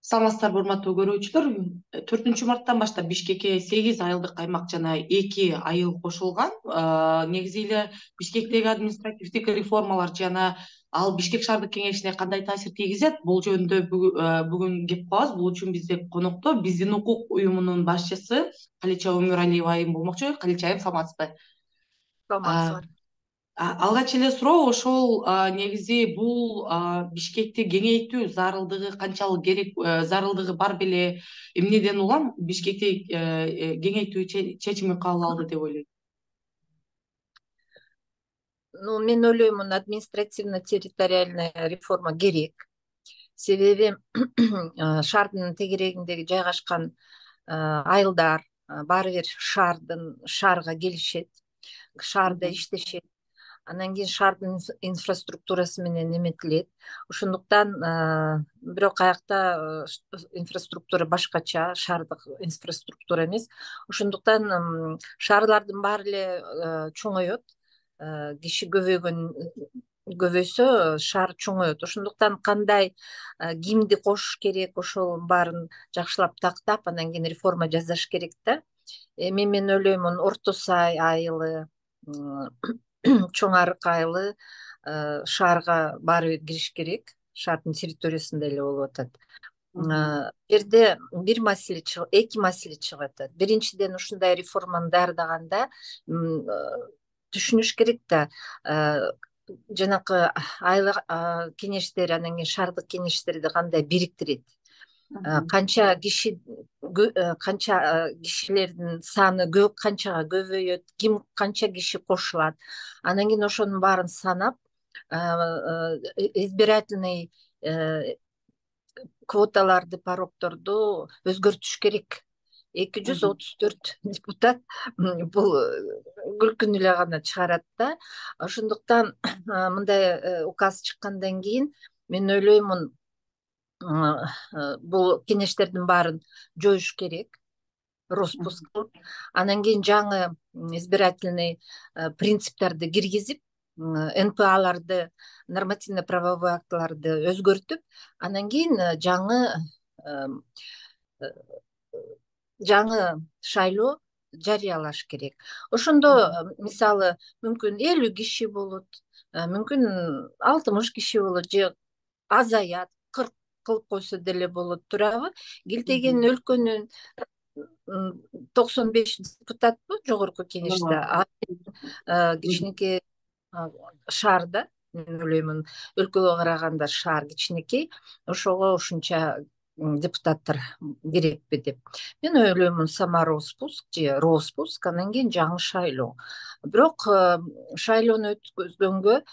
Саламатсыздарбы, урматтуу көрүүчүлөр. 4 марттан баштап Бишкекке 8 айылдык аймак жана 2 айыл кошулган. Негизи эле Бишкектеги административдик реформалар жана ал Бишкек шаардык кеңешине кандай таасир тийгизет, бул жөнүндө бүгүн кеп калабыз. Бул үчүн бизде конокто Биздин укук уюмунун башчысы Калича Өмүралиева айым болмокчу. Калича айым, саламатсызбы? Саламатсызбы. Алгач эле суроо ошол, негизи бул Бишкекти кеңейтүү зарылдыгы канчалык керек, зарылдыгы бар беле? Эмнеден улам Бишкекти кеңейтүү чечими кабыл алды деп ойлойт? Мен ойлоймун, административно-территориальная реформа керек. Себеби шаардын тегерегиндеги жайгашкан айылдар баары бир шаарга келишет, шаарда иштешет. Анан кийин шаардын инфраструктурасы менен эметилет. Ошондуктан бирок аякта инфраструктура башкача, шаардык инфраструктура эмес. Ошондуктан шаарлардын баары эле чоңойот. Киши көбөйсө шаар чоңойот. Ошондуктан кандай кимди кошуш керек, ошол баарын жакшылап тактап, анан кийин реформа жасаш керек да. Мен ойлоймун, Орто Сай айылы, Чоң Арык айылы шаарга баары бир кириш керек. Шаардын территориясында эле болуп атат. Бул жерде эки маселе чыгып атат. Биринчиден, ушундай реформаны даярдаганда түшүнүш керек да, жанакы айыл кеңештери, анан кийин шаардык кеңештерди кандай бириктирет, канча кишилердин саны канчага көбөйөт, ким канча киши кошулат, анан кийин ошонун баарын санап, избирательный квоталарды, порогторду өзгөртүш керек. 234 депутат бул күлкүнү эле гана чыгарат да. Ошондуктан мындай указ чыккандан кийин мен ойлоймун, бул кеңештердин баарын жоюш керек, роспуск кылып, анан кийин жаңы избирательный принциптерди киргизип, НПАларды, нормативно-правовой актыларды өзгөртүп, анан кийин жаңы шайлоо жарыялаш керек. Ошондо мисалы мүмкүн 50 киши болот, мүмкүн 60 киши болот, же азаят, 40 кылып койсо деле болот, туурабы? Килтеген өлкөнүн 95 депутатпы жогорку кеңеште, кичинекей шаарда, мен ойлоймун, өлкөгө караганда шаар кичинекей, ошого ушунча депутаттар керекпи деп. Мен ойлоймун, самороспуск же роспуск, анан кийин жаңы шайлоо. Бирок шайлоону өткөзгөнгө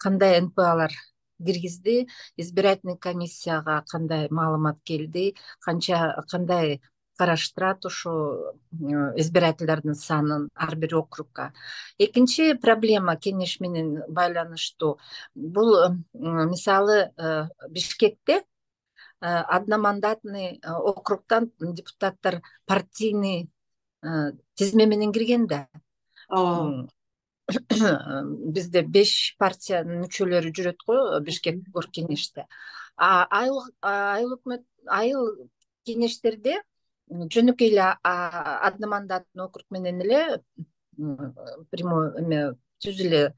кандай НПАлар киргизди, избирательный комиссияга кандай маалымат келди, кандай караштырат ошо избирательдердин санын ар бир округга. Экинчи проблема кеңеш менен байланыштуу. Бул мисалы Бишкекте одномандатный округтан депутаттар партийный тизме менен кирген да. Бизде 5 партиянын мүчөлөрү жүрөт го Бишкек оргкеңеште. Айыл кеңештерде жөнөкөй эле одномандатный округ менен эле прямой түз эле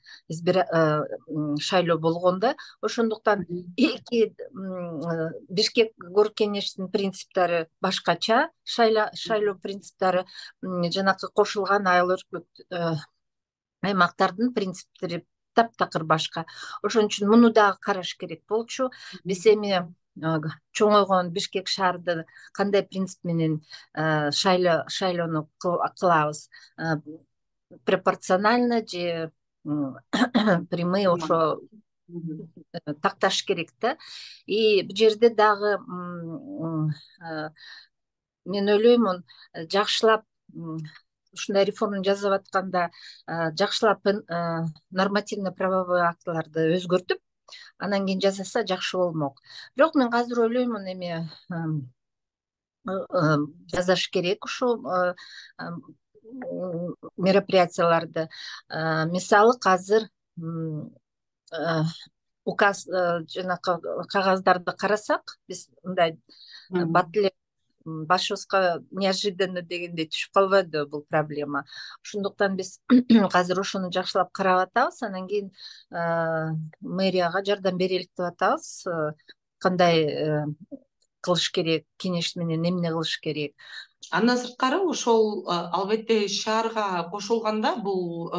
шайлоо болгон да. Ошондуктан эки Бишкек оргкеңештин принциптери башкача, шайлоо принциптери жанакы кошулган айыл аймактардын принциптери таптакыр башка. Ошон үчүн муну дагы караш керек болчу. Биз эми чоңойгон Бишкек шаарды кандай принцип менен шайлоону кылабыз? Пропорционально же прямой, ошо такташ керек да. И бул жерде дагы мен ойлоймун, жакшылап ушундай реформаны жасап атканда жакшылап нормативно-правовой актыларды өзгөртүп, анан кийин жасаса жакшы болмок. Бирок мен азыр ойлоймун, эми жасаш керек ушул мероприятияларды. Мисалы азыр указ жанакы кагаздарды карасак, биз мындай бат эле башыбызга неожиданно дегендей түшүп калбайдыбы бул проблема. Ошондуктан биз азыр ошону жакшылап карап атабыз, анан кийин мэрияга жардам берелик деп атабыз. Кандай кылыш керек, кеңеш менен эмне кылыш керек. Андан сырткары ошол албетте шаарга кошулганда бул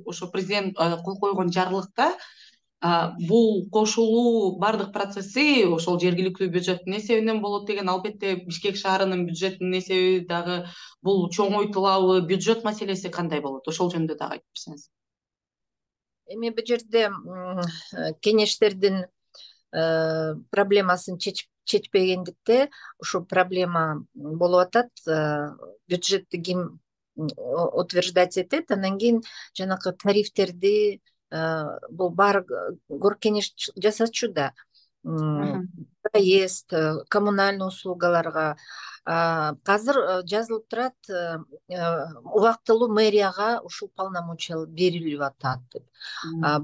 ошо президент кол койгон жарлыкта бул кошулуу баардык процесси ошол жергиликтүү бюджеттин эсебинен болот деген. Албетте Бишкек шаарынын бюджетинин эсеби дагы бул чоңойтулабы, бюджет маселеси кандай болот? Ошол жөнүндө дагы айтып берсеңиз. Эми бул жерде кеңештердин проблемасын чечпегендикте ушул проблема болуп атат. Бюджетти ким утверждать этет, анан кийин жанакы тарифтерди бул баары горкеңеш жасачу да. Проезд, коммунальный услугаларга азыр жазылып турат, убактылуу мэрияга ушул полномочия берилип атат деп.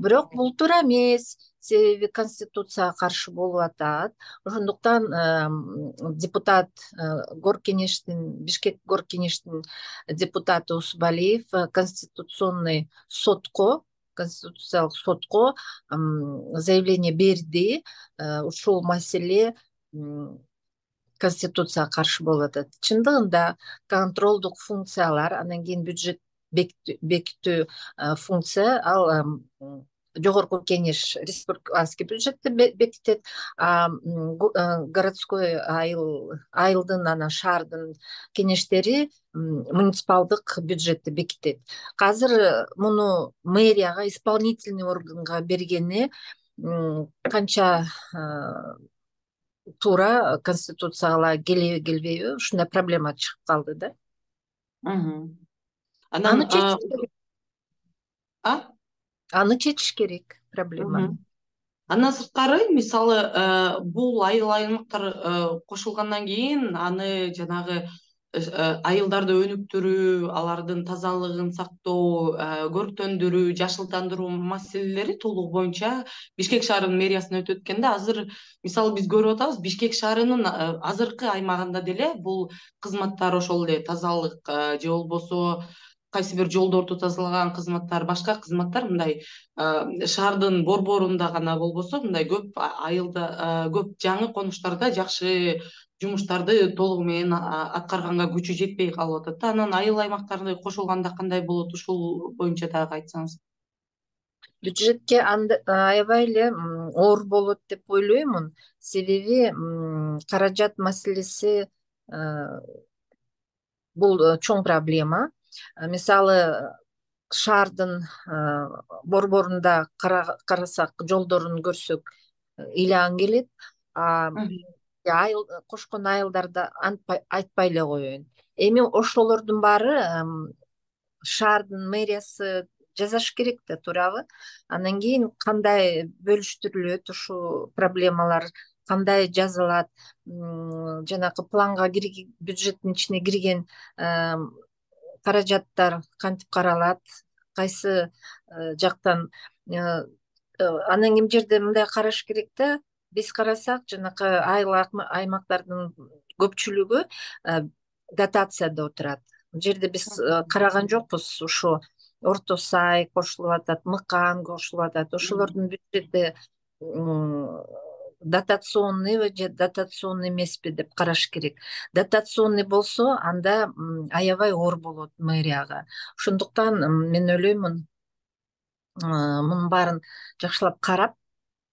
Бирок бул туура эмес, себеби конституцияга каршы болуп атат. Ошондуктан депутат горкеңештин, Бишкек горкеңештин депутаты Усубалиев конституциялык сотко заявление берди. Ушул маселе конституцияга каршы болуп атат. Чындыгында контролдук функциялар, анан кийин бюджет бекитүү функция ал жогорку кеңеш республиканский бюджетти бекитет, городской айылдын анан шаардын кеңештери муниципалдык бюджетти бекитет. Азыр муну мэрияга, исполнительный органга бергени канча туура, конституцияга келеби келбейби, ушундай проблема чыгып калды да. Аны чечиш керек проблеманы. Андан сырткары, мисалы, бул айыл аймактар кошулгандан кийин аны жанагы айылдарды өнүктүрүү, алардын тазалыгын сактоо, көрктөндүрүү, жашылдандыруу маселелери толугу боюнча Бишкек шаарынын мэриясына өтүп эткенде, азыр мисалы биз көрүп атабыз, Бишкек шаарынын азыркы аймагында деле бул кызматтар, ошол эле тазалык же болбосо кайсы бир жолдорду тазалаган кызматтар, башка кызматтар мындай шаардын борборунда гана болбосо, мындай көп айылда, көп жаңы конуштарда жакшы жумуштарды толугу менен аткарганга күчү жетпей калып атат да. Анан айыл аймактарды кошулганда кандай болот? Ушул боюнча дагы айтсаңыз. Бюджетке аябай эле оор болот деп ойлоймун. Себеби каражат маселеси бул чоң проблема. Мисалы, шаардын борборунда карасак, жолдорун көрсөк, ыйлаң келет. Кошкон айылдарда айтпай эле коеюн. Эми ошолордун баары шаардын мэриясы жасаш керек да, туурабы? Анан кийин кандай бөлүштүрүлөт ушул проблемалар, кандай жазылат, жанакы планга бюджеттин ичине кирген каражаттар кантип каралат, кайсы жактан. Анан кийин жерде мындай караш керек да. Биз карасак, жанакы айыл аймактардын көпчүлүгү дотацияда отурат. Бул жерде биз караган жокпуз. Ушу Орто Сай кошулуп атат, Мыкан кошулуп атат. Ошолордун бюджети дотационныйбы же дотационный эмеспи деп караш керек. Дотационный болсо, анда аябай оор болот мэрияга. Ошондуктан мен ойлоймун, мунун баарын жакшылап карап,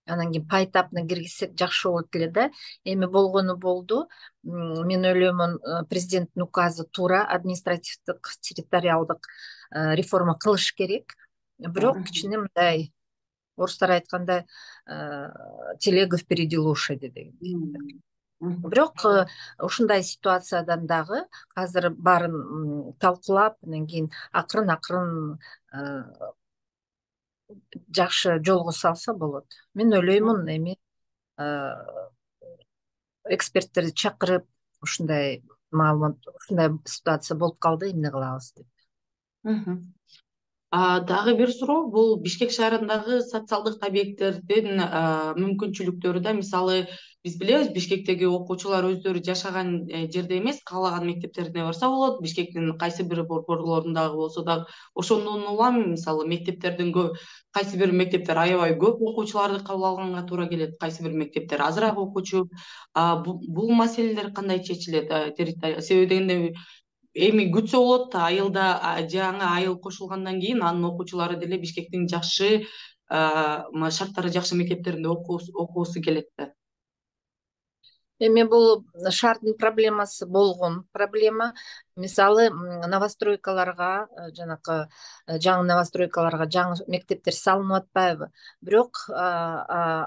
анан кийин поэтапно киргизсек жакшы болот эле да. Эми болгону болду. Мен ойлоймун, президенттин указы туура, административдик территориалдык реформа кылыш керек. Бирок кичине мындай, орустар айткандай, телега впереди лошади деген. Бирок ушундай ситуациядан дагы азыр баарын талкуулап, анан кийин акырын жакшы жолго салса болот. Мен ойлоймун, эми эксперттерди чакырып, ушундай маалымат, ушундай ситуация болуп калды, эмне кылабыз деп. Дагы бир суроо, бул Бишкек шаарындагы социалдык объекттердин мүмкүнчүлүктөрү да, мисалы биз билебиз, Бишкектеги окуучулар өздөрү жашаган жерде эмес, каалаган мектептерине барса болот. Бишкектин кайсы бир борборлорундагы болсо дагы ошондон улам, мисалы мектептердин кайсы бир мектептер аябай көп окуучуларды кабыл алганга туура келет, кайсы бир мектептер азыраак окуучу. Бул маселелер кандай чечилет? Себеби дегенде эми күтсө болот да, айылда жаңы айыл кошулгандан кийин анын окуучулары деле Бишкектин жакшы шарттары жакшы мектептеринде окугусу келет да. Эми бул шаардын проблемасы болгон проблема. Мисалы новостройкаларга, жанакы жаңы новостройкаларга жаңы мектептер салынып атпайбы? Бирок кээ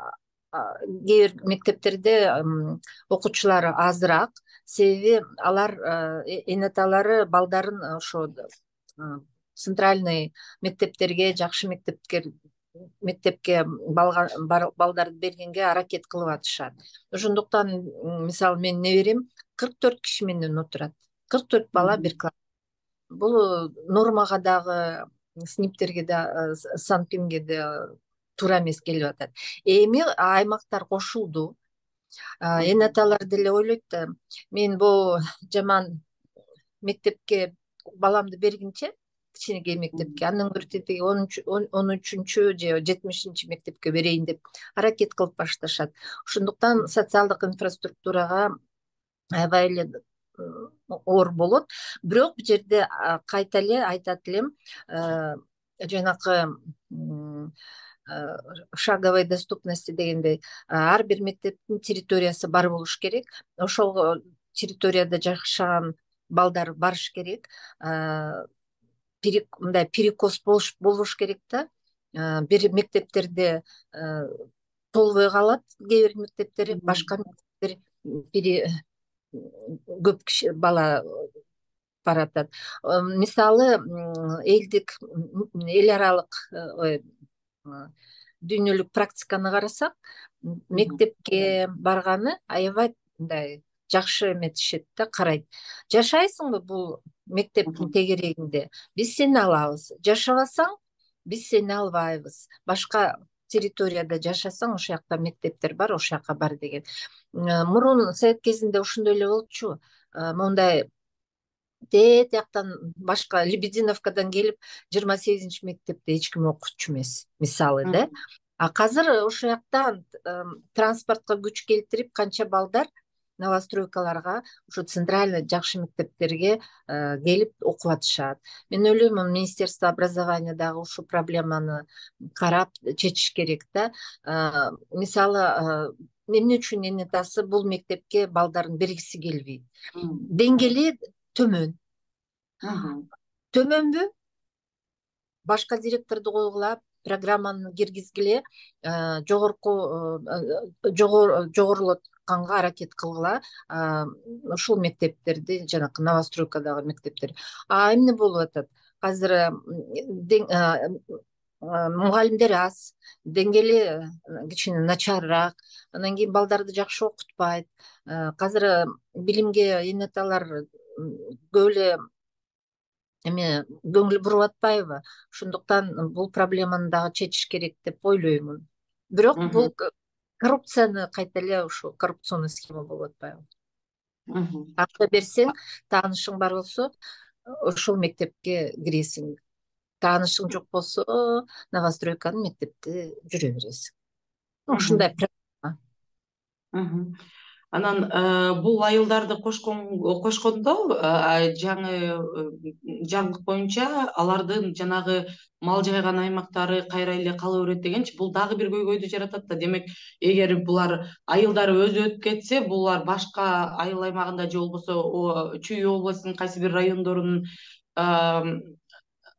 бир мектептерде окуучулары азыраак, себеби алар эне аталары балдарын ошо центральный мектептерге, жакшы мектепке балдарды бергенге аракет кылып атышат. Ошондуктан мисалы менин неберем 44 киши менен отурат. 44 бала бир класс. Бул нормага дагы, синиптерге да, санпинге да туура эмес келип атат. Эми аймактар кошулду. Эне аталар деле ойлойт да, мен бул жаман мектепке баламды бергинче, кичинекей мектепке, андан көрө тетиги 13-чү же 70-чи мектепке берейин деп аракет кылып башташат. Ошондуктан социалдык инфраструктурага аябай эле оор болот. Бирок бул жерде кайта эле айтат элем, жанакы шаговой доступности дегендей, ар бир мектептин территориясы бар болуш керек. Ошол территорияда жашаган балдар барыш керек. Мындай перекос болуш керек да. Бир мектептерде толбой калат, кээ бир мектептери, башка мектептер көп киши бала баратат. Мисалы эл аралык дүйнөлүк практиканы карасак, мектепке барганы аябай мындай жакшы эметишет да, карайт. Жашайсыңбы бул мектептин тегерегинде, биз сени алабыз. Жашабасаң, биз сени албайбыз. Башка территорияда жашасаң, ошол жакта мектептер бар, ошол жака бар деген. Мурун совет кезинде ошондой эле болчу. Мондай тияктан башка Лебединовкадан келип 28-чи мектепте эч ким окуучу эмес, мисалы да. Азыр ошол жактан транспортко күч келтирип канча балдар новостройкаларга, ошо центральный жакшы мектептерге келип окуп атышат. Мен ойлойм, Министерство образования дагы ушул проблеманы карап чечиш керек да. Мисалы, эмне үчүн эне атасы бул мектепке балдарын бергиси келбейт? Деңгээли төмөнбү? Башка директорду койгула, программаны киргизгиле, жогорулатканга аракет кылгыла ушул мектептерди, жанакы новостройкадагы мектептер. Эмне болуп атат? Азыр мугалимдер аз, деңгээли кичине начарыраак, анан кийин балдарды жакшы окутпайт. Азыр билимге эне аталар көп эле көңүл буруп атпайбы? Ошондуктан бул проблеманы дагы чечиш керек деп ойлоймун. Бирок бул коррупцияны кайта эле ушул коррупционный схема болуп атпайбы? Акча берсең, таанышың бар болсо, ошол мектепке киресиң. Таанышың жок болсо, новостройканын мектепте жүрө бересиң. Ушундай проблема. Анан бул айылдарды кошкондо жаңы жарлык боюнча алардын жанагы мал жайган аймактары кайра эле кала берет дегенчи, бул дагы бир көйгөйдү жаратат да. Демек, эгер булар айылдары өзү өтүп кетсе, булар башка айыл аймагында же болбосо Чүй областынын кайсы бир райондорунун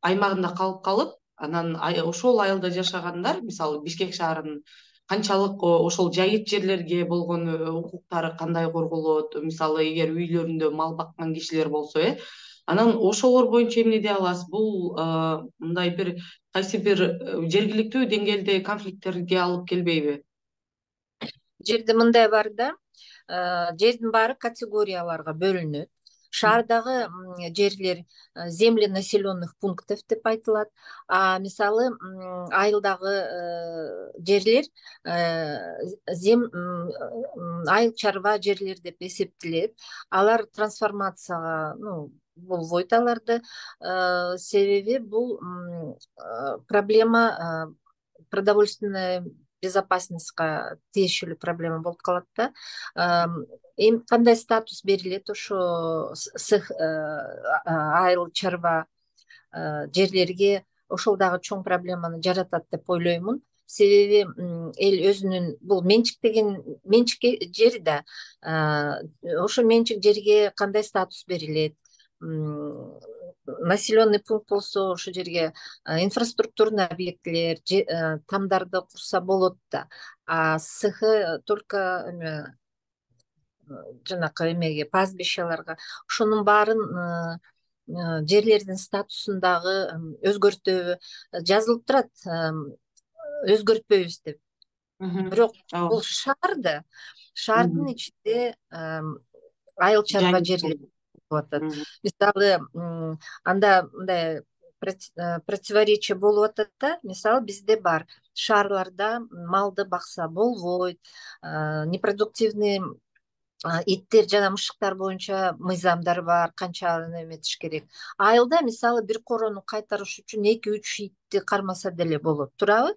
аймагында калып, анан ошол айылда жашагандар, мисалы Бишкек шаарынын канчалык ошол жайыт жерлерге болгон укуктары кандай корголот? Мисалы, эгер үйлөрүндө мал баккан кишилер болсо, анан ошолор боюнча эмне дей аласыз? Бул мындай бир кайсы бир жергиликтүү деңгээлде конфликттерге алып келбейби? Жерде мындай бар да, жердин баары категорияларга бөлүнөт. Шаардагы жерлер земли населенных пунктов деп айтылат. А мисалы айылдагы жерлер айыл чарба жерлер деп эсептелет. Алар трансформацияга болбойт аларды. Себеби бул проблема продовольственная безопасностька тиешелүү проблема болуп калат да. Эми кандай статус берилет ошо айыл чарба жерлерге, ошол дагы чоң проблеманы жаратат деп ойлоймун. Себеби эл өзүнүн бул менчик жери да, ошо менчик жерге кандай статус берилет, населенный пункт болсо ошол жерге инфраструктурный объектилер, тамдарды курса болот да. А только жанакы эмеге, пастбищаларга, ошонун баарын жерлердин статусун дагы өзгөртөбү жазылып турат, өзгөртпөйбүз деп. Бирок бул шаардын ичинде айыл чарба жерлер болуп атат. Мисалы, анда мындай противоречие болуп атат да. Мисалы, бизде бар шаарларда малды бакса болбойт, непродуктивный иттер жана мышыктар боюнча мыйзамдар бар, канча эметиш керек. Айылда мисалы бир корону кайтарыш үчүн 2-3 итти кармаса деле болот, туурабы?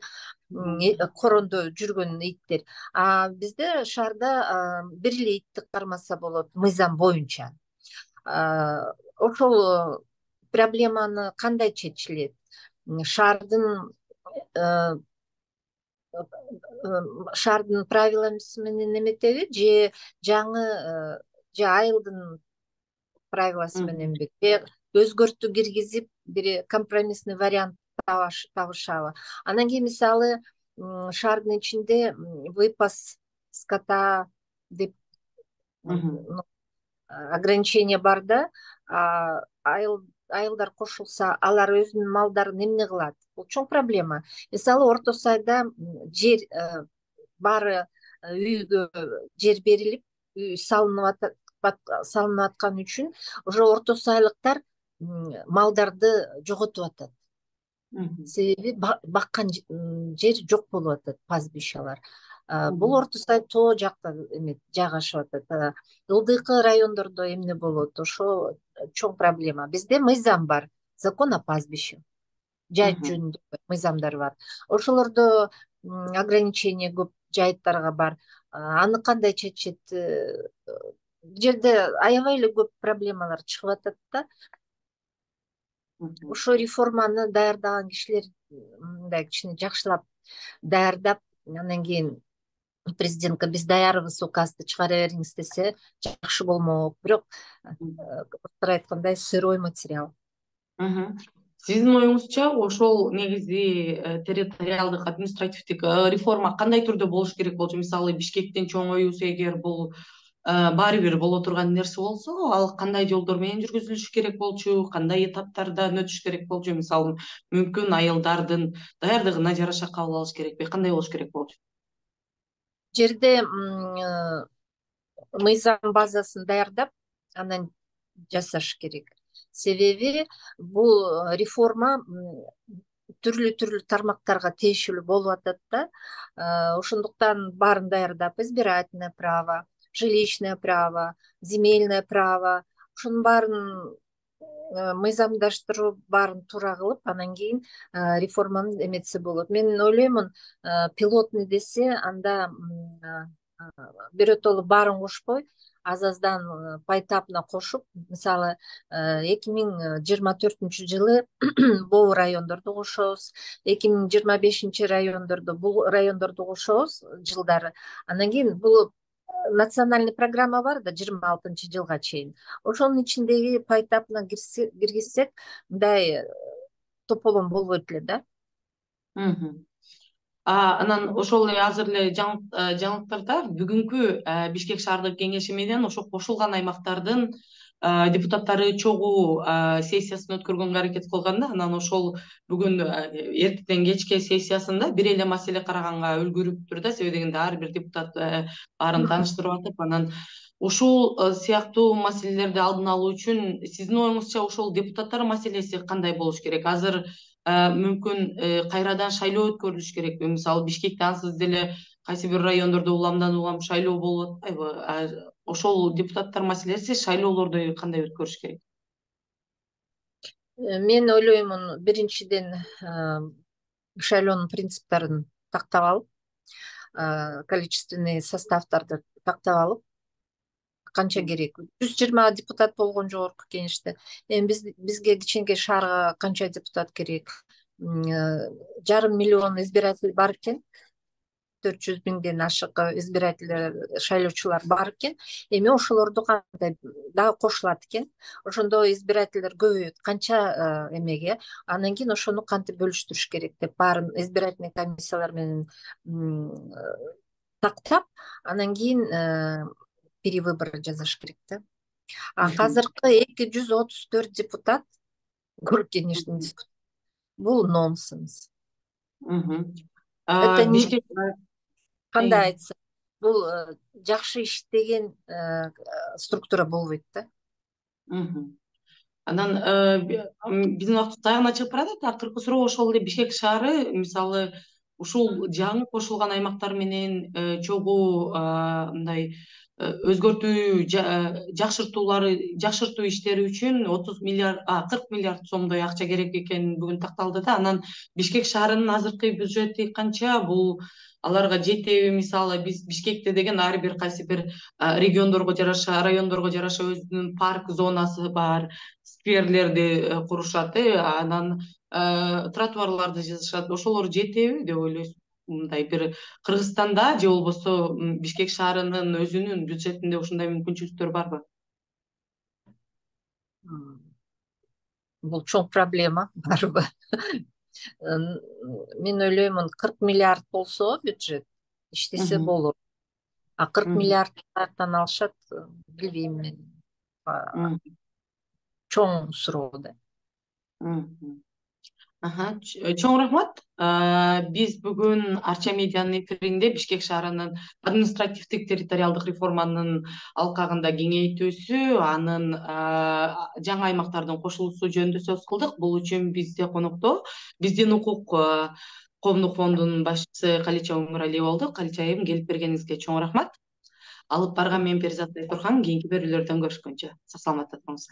Корондо жүргөн иттер. А бизде шаарда бир эле итти кармаса болот мыйзам боюнча. Ошол проблеманы кандай чечилет? Шаардын правиласы менен эметеби, же айылдын правиласы мененби, же өзгөртүү киргизип бир компромиссный вариант табышабы? Анан кийин мисалы шаардын ичинде выпас скота деп ограничение бар да. Айылдар кошулса, алар өзүнүн малдарын эмне кылат? Бул чоң проблема. Мисалы, Орто Сайда жер баары үйгө жер берилип, үй салынып аткан үчүн уже Орто Сайлыктар малдарды жоготуп атат. Себеби баккан жер жок болуп атат, пастбищалар. Бул Орто Сай тоо жакта жайгашып атат. Ылдыйкы райондордо эмне болот? Ошо чоң проблема. Бизде мыйзам бар, закон о пастбище. Жайыт жөнүндө мыйзамдар бар. Ошолордо ограничение көп жайыттарга бар. Аны кандай чечет? Жерде аябай эле көп проблемалар чыгып атат да. Ошо реформаны даярдаган кишилер мындай кичине жакшылап даярдап, анан кийин президентке биз даярбыз, указды чыгара бериңиз десе жакшы болмок. Бирок айткандай сырой материал. Сиздин оюңузча ошол негизи территориалдык административдик реформа кандай түрдө болуш керек болчу? Мисалы, Бишкектин чоң оюусу эгер бул баары бир боло турган нерсе болсо, ал кандай жолдор менен жүргүзүлүш керек болчу, кандай этаптардан өтүш керек болчу? Мисалы, мүмкүн айылдардын даярдыгына жараша кабыл алыш керекпи? Кандай болуш керек болчу? Жерде мыйзам базасын даярдап, анан жасаш керек. Себеби бул реформа түрлүү тармактарга тиешелүү болуп атат да. Ошондуктан баарын даярдап, избирательное право, жилищное право, земельное право, ошонун баарын мыйзамдаштырып, баарын туура кылып, анан кийин реформаны эметсе болот. Мен ойлоймун, пилотный десе, анда бирөтөлө баарын кошпой, аз-аздан поэтапно кошуп, мисалы, 2024-жылы бул райондорду кошобуз, 2025 бул райондорду кошобуз жылдары. Анан кийин бул национальный программа бар да, 26-жылга чейин. Ошонун ичиндеги поэтапно киргизсек, мындай тополом болбойт эле да. Анан ошол эле азыр эле жаңылыктарда бүгүнкү Бишкек шаардык кеңеши менен ошо кошулган аймактардын депутаттары чогуу сессиясын өткөргөнгө аракет кылганда, анан ошол бүгүн эртеден кечке сессиясында бир эле маселе караганга үлгүрүптүр да. Себеби дегенде ар бир депутат баарын тааныштырып атып, анан Ушул сыяктуу маселелерди алдын алуу үчүн сиздин оюңузча ошол депутаттар маселеси кандай болуш керек? Азыр мүмкүн кайрадан шайлоо өткөрүлүш керекпи? Мисалы Бишкекте ансыз деле кайсы бир райондордо уламдан улам шайлоо болуп атпайбы? Ошол депутаттар маселеси шайлоолорду кандай өткөрүш керек? Мен ойлоймун, биринчиден шайлоонун принциптерин тактап алып, количественный составдарды тактап алып, канча керек? 120 депутат болгон жогорку кеңеште. Эми бизге кичинекей шаарга канча депутат керек? 500 000 избиратель бар экен. 400 000ден ашык избиратель, шайлоочулар бар экен. Эми ошолорду кандай дагы кошулат экен. Ошондо избирательдер көбөйөт. Канча эмеге? Анан кийин ошону кантип бөлүштүрүш керек деп баарын избирательный комиссиялар менен тактап, анан кийин перевыбор жасаш керек да. Азыркы 234 депутат город кеңештин депутаты. Бул нонсенс. Это Бишкек кандай айтсам, бул жакшы иштеген структура болбойт да. Анан биздин убактыбыз аягына чыгып баратат. Акыркы суроо ошол эле Бишкек шаары мисалы ушул жаңы кошулган аймактар менен чогуу мындай өзгөртүү жакшыртуу иштери үчүн 40 миллиард сомдой акча керек экени бүгүн такталды да. Анан Бишкек шаарынын азыркы бюджети канча? Бул аларга жетеби? Мисалы биз Бишкекте деген ар бир кайсы бир региондорго жараша, райондорго жараша өзүнүн парк зонасы бар, скверлерди курушат, анан тротуарларды жасашат. Ошолор жетеби деп ойлойсуз? Мындай бир Кыргызстанда же болбосо Бишкек шаарынын өзүнүн бюджетинде ушундай мүмкүнчүлүктөр барбы? Бул чоң проблема барбы? Мен ойлоймун, 40 миллиард болсо бюджет иштесе болот. 40 миллиард каяктан алышат, билбейм мен. Чоң суроо да. Чоң рахмат. Биз бүгүн Арча медианын эфиринде Бишкек шаарынын административдик территориалдык реформанын алкагында кеңейтүүсү, анын жаңы аймактардын кошулуусу жөнүндө сөз кылдык. Бул үчүн бизде конокто биздин укук коомдук фондунун башчысы Калича Өмүралиева болду. Калича айым, келип бергениңизге чоң рахмат. Алып барган мен Перизат Айтурхан. Кийинки берүүлөрдөн көрүшкөнчө сак саламатта туруңуздар.